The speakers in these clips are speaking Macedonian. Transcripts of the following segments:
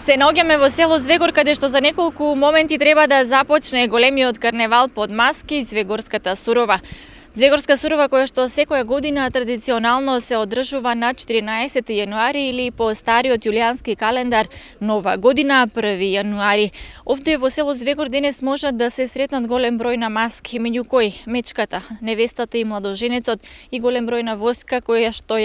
Се наоѓаме во село Звегор, каде што за неколку моменти треба да започне големиот карневал под маски, Звегорската сурова. Звегорска сурова, која што секоја година традиционално се одржува на 14 јануари или по стариот јулијански календар Нова година 1 јануари. Овде во село Звегор денес можат да се сретнат голем број на маски, меѓу кои мечката, невестата и младоженецот и голем број на воска кои што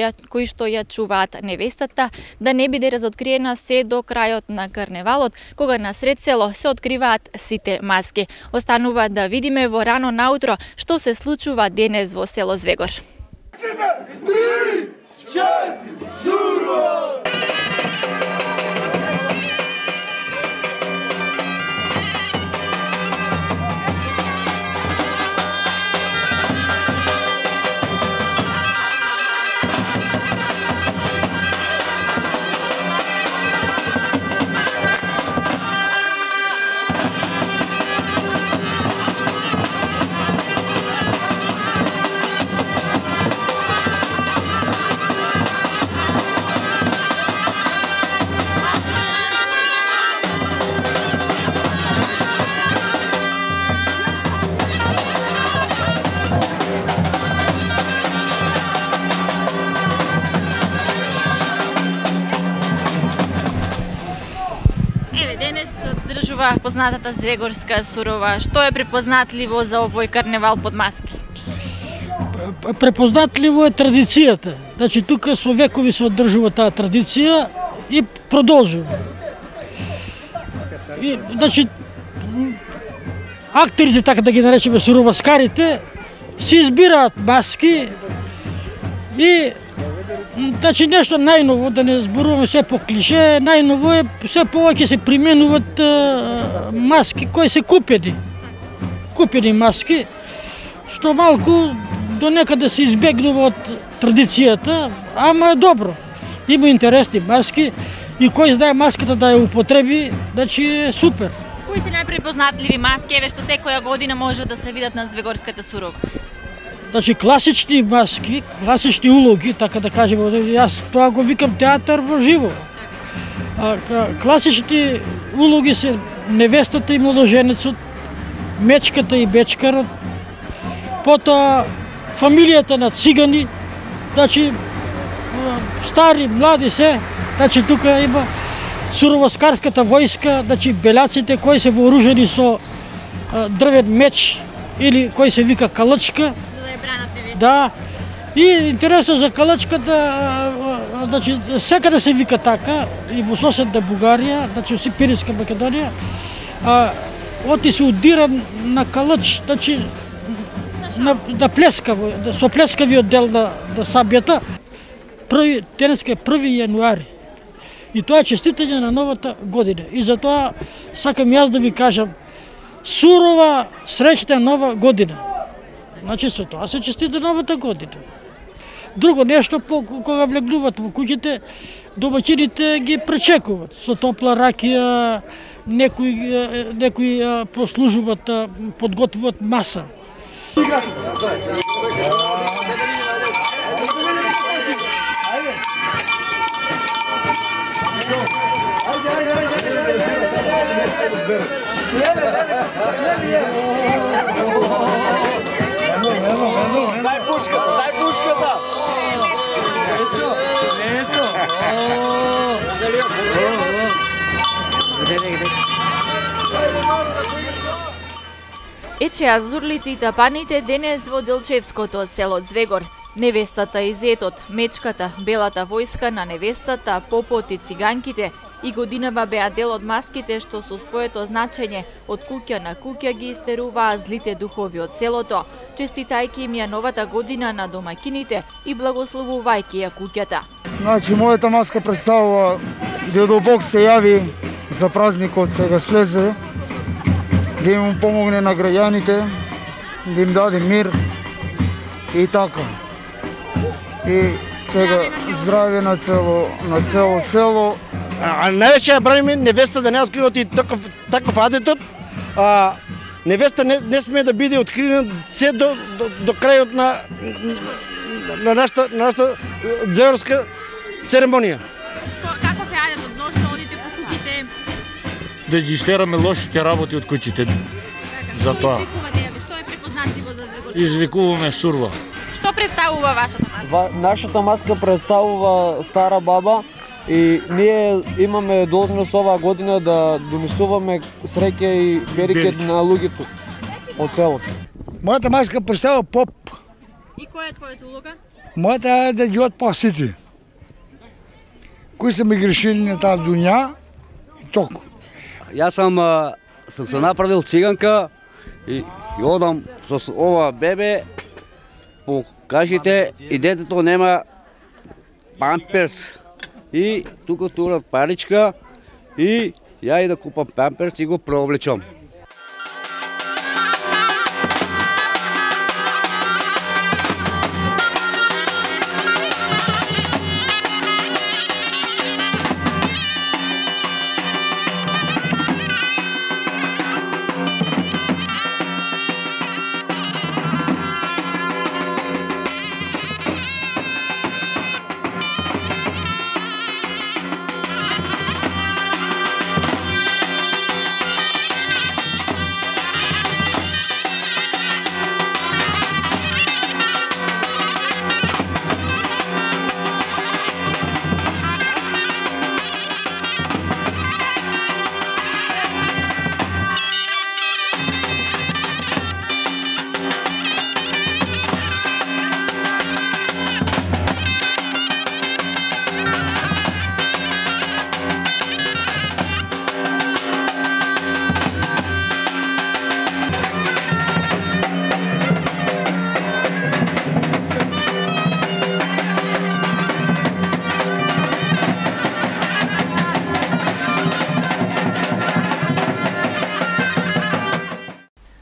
ја чуваат невестата да не биде разоткриена се до крајот на карневалот, кога насред село се откриваат сите маски. Останува да видиме во рано наутро што се случува денес во село Звегор. 3, 4, сурова! Денес се одржува познатата Звегорска сурова. Што е препознатливо за овој карневал под маски? Препознатливо е традицијата. Значи тука со векови се одржува таа традиција и продолжува. Значи актерите, така да ги наречеме суроваскарите, си избираат маски и значи нешто најново, да не зборуваме се по клише, најново е се повеќе се применуваат маски кои се купени маски, што малку до некаде се избегнува од традицијата, ама е добро. Има интересни маски и кој знае маската да ја употреби, значи е супер. Кои се најпрепознатливи маски, еве што секоја година може да се видат на Звегорската сурова? Значи класични маски, класични улоги, така да кажеме, јас тоа го викам театар во живо. Класични улоги се невестата и младоженецот, мечката и бечкарот, потоа фамилијата на цигани, значи стари, млади се, значи тука има суроваскарската војска, значи белјаците кои се вооружени со дрвен меч или кој се вика калачка. Да, и интересно за калачката, значи секаде се вика така, и во соседна Бугарија, значи во Пиринска Македонија, оти се удира на калач, значи на плескаво, со плескавиот дел на сабјата. Денеска е 1 јануари. И тоа е честитање на новата година. И затоа сакам јас да ви кажам, сурова среќна нова година. Значи со тоа се честита новата година. Друго нешто, кога влегнуват во куќите, домаќините ги пречекуваат со топла ракија, некои послужуваат, подготвуваат маса. Дај пушката! Ече азурлите и тапаните денес во Делчевското село Звегор. Невестата и зетот, мечката, белата војска на невестата, попот и циганките и годинава беа дел од маските што со своето значење од куќа на куќа ги истеруваа злите духови од селото, честитајќи им ја новата година на домаќините и благословувајќи ја куќата. Значи, мојата маска представува Дедо Бог се јави за празникот, сега слезе, да им помогне на граѓаните, да им даде мир и така. И сега здравје на цело село. А највеќе ја браниме невеста да не откриват и таков адетот. Невеста не смее да биде откриена се до крајот на нашата звегорска церемонија. Каков е адетот? Зошто одите по куќите? да ги истераме лошите работи од куќите. За тоа. Што е препознатливо за Звегорска? Извикуваме сурва. Што представува вашата маска? Нашата маска представува стара баба и ние имаме должност оваа година да донесуваме среќа и берекет на луѓето од селото. Мојата маска представува поп. И која е твојата улога? Мојата е да ги отпал сите, кои се ми грешили на таа дуња и толку. Јас сум се направил циганка и одам со ова бебе по кажите и детето нема памперс. И тука турат паричка и ја и да купам памперс и го преоблечам.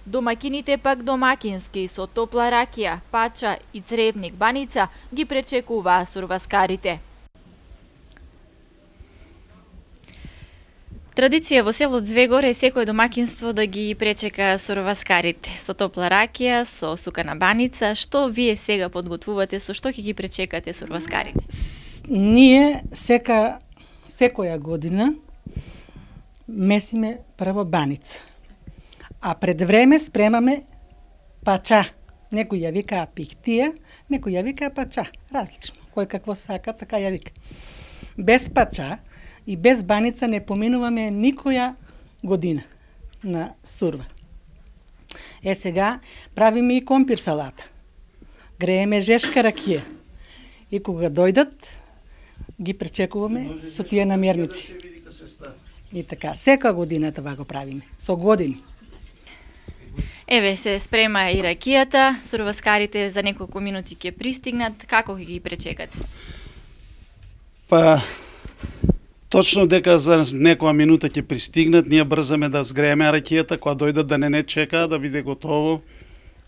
Домакините пак домакински со топла ракија, пача и цревник баница ги пречекуваа сурваскарите. Традиција во село Звегор е секое домакинство да ги пречека сурваскарите со топла ракија, со сукана баница. Што вие сега подготвувате, со што ќе ги пречекате сурваскарите? Ние секоја година месиме прво баница. А пред време спремаме пача. Некој ја вика пиктија, некој ја вика пача. Различно. Кој какво сака, така ја вика. Без пача и без баница не поминуваме никоја година на сурва. Сега правиме и компир салата. Грееме жешка ракија. И кога дојдат, ги пречекуваме со тие намерници. И така, секоја година това го правиме, со години. Еве се спрема и ракијата, сурваскарите за неколку минути ќе пристигнат, како ќе ги пречекате? Па, точно дека за некоја минута ќе пристигнат, ние брзаме да згрееме ракијата, кога дојдат да не чека, да биде готово.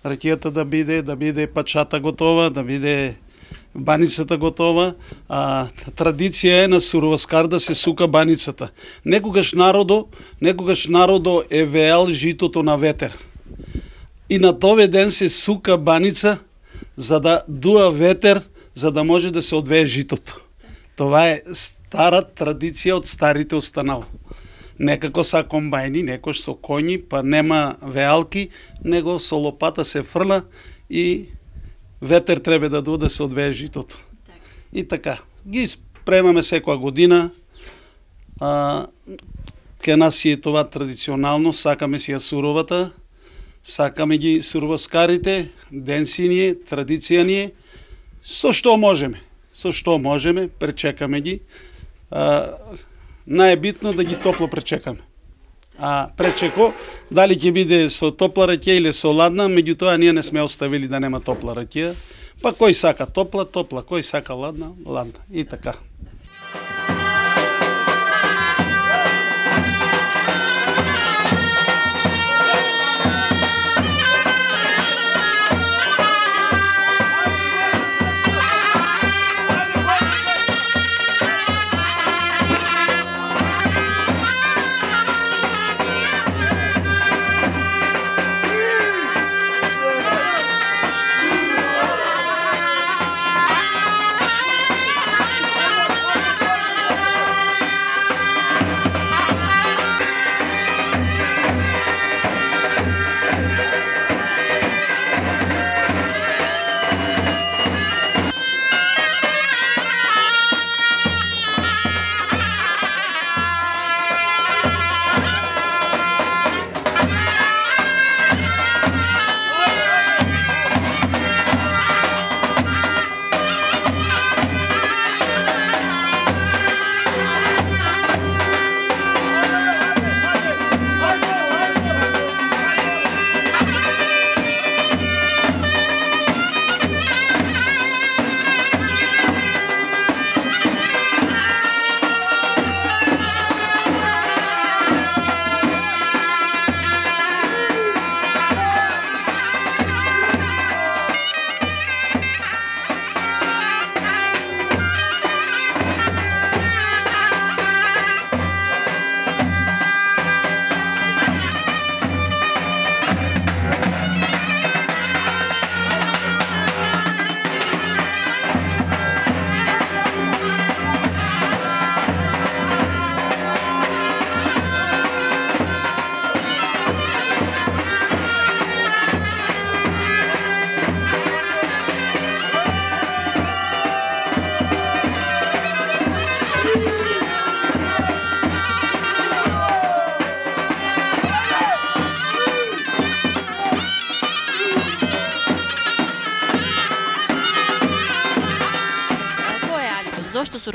Ракијата да биде пачата готова, да биде баницата готова. Традиција е на сурваскар да се сука баницата. Некогаш народо е веел житото на ветер. И на тој ден се сука баница за да дуа ветер, за да може да се одвее житото. Това е стара традиција од старите останало. Некако са комбајни, некош со коњи, па нема веалки, него со лопата се фрла и ветер треба да дуа да се одвее житото. И така, ги спремаме секоја година. Ке нас си е това традиционално, сакаме си ја суровата, сакаме ги сурваскарите, ден си ни е, традиција ни е, со што можеме, пречекаме ги. Најбитно да ги топло пречекаме. Пречеко, дали ќе биде со топла ракија или со ладна, меѓутоа ние не сме оставили да нема топла ракија, па кој сака топла, кој сака ладна, и така.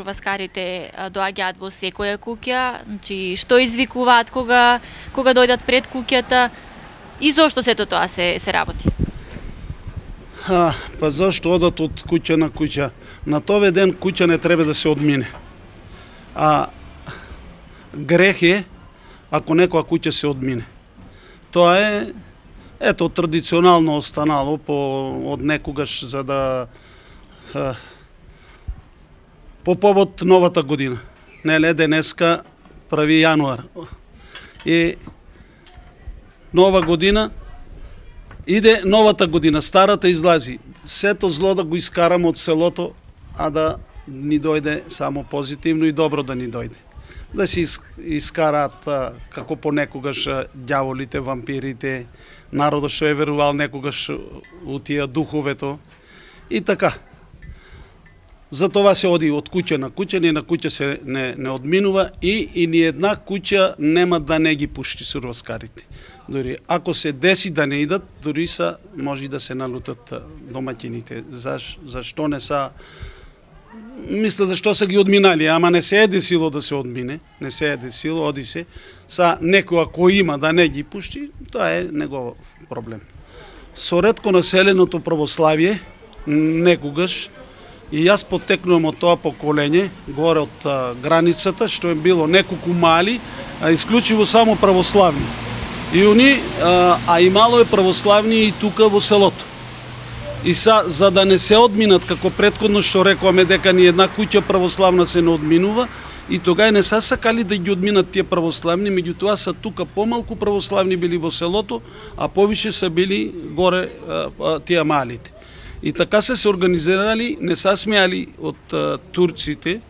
сурваскарите доаѓаат во секоја куќа, значи што извикуваат кога дојдат пред куќата и зошто сето тоа се работи? Па зашто одат од куќа на куќа? На тој ден куќа не треба да се одмине. А грех е ако некоја куќа се одмине. Тоа е традиционално останало од некогаш за да по повод новата година. Неле денеска 1 јануар. И нова година иде новата година, старата излази. Сето зло да го искараме од селото, а да ни дојде само позитивно и добро да ни дојде. Да се искараат како понекогаш ѓаволите, вампирите, народот што е верувал некогаш у тие духовето и така. За това се оди од куќа на куќа, ни на куќа се не одминува и ни една куќа нема да не ги пушти сурваскарите. Дори ако се деси да не идат, дори може да се налутат домаќините. Зашто не са? Мисля зашто са ги одминали, ама не се е десило да се одмине, не се е десило, оди се. Некоја кој има да не ги пушти, тоа е негов проблем. Со ретко населеното православие, некогаш, и јас потекнувам од тоа поколење, горе од границата, што е било неколку мали, а исклучиво само православни. И они, имало е православни и тука во селото. И за да не се одминат, како претходно што рекуваме дека ни една куќа православна се не одминува, и тога не са сакали да ги одминат тие православни, меѓутоа са тука помалку православни били во селото, а повише са били горе тие малите. И така се организирали, не са смеали од турците,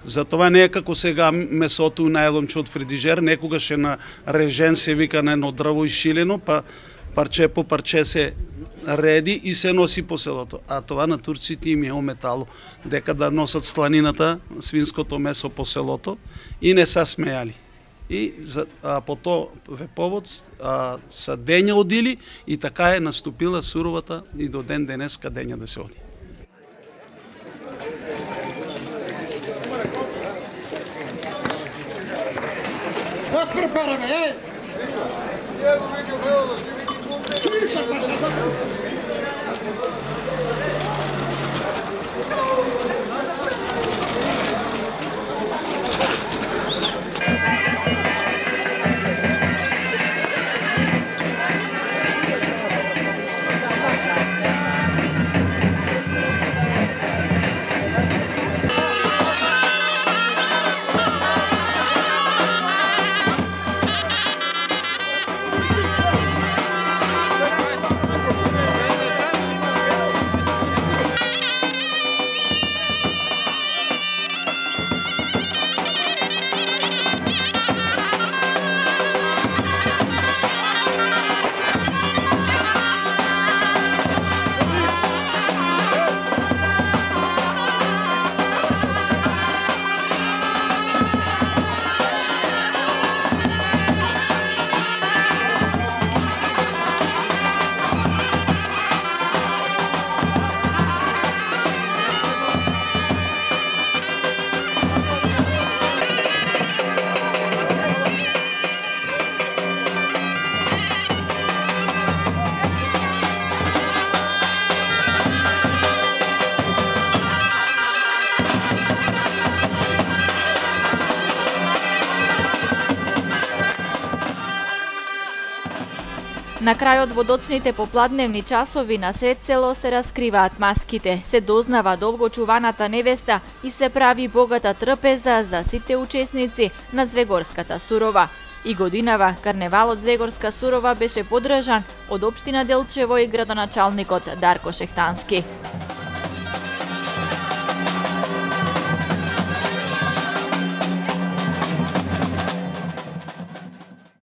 затова не е како сега месото најломче од фридижер, некогаш е на режен, се вика на едно дрво ишилено, па парче по парче се реди и се носи по селото. А това на турците им е ометало, дека да носат сланината, свинското месо по селото и не са смејали. И по тој повод са дења одили и така е наступила суровата и до ден денеска дења да се оди. На крајот во доцните попладневни часови на сред село се раскриваат маските, се дознава долгочуваната невеста и се прави богата трпеза за сите учесници на Звегорската сурова. И годинава карневалот Звегорска сурова беше подржан од општина Делчево и градоначалникот Дарко Шехтански.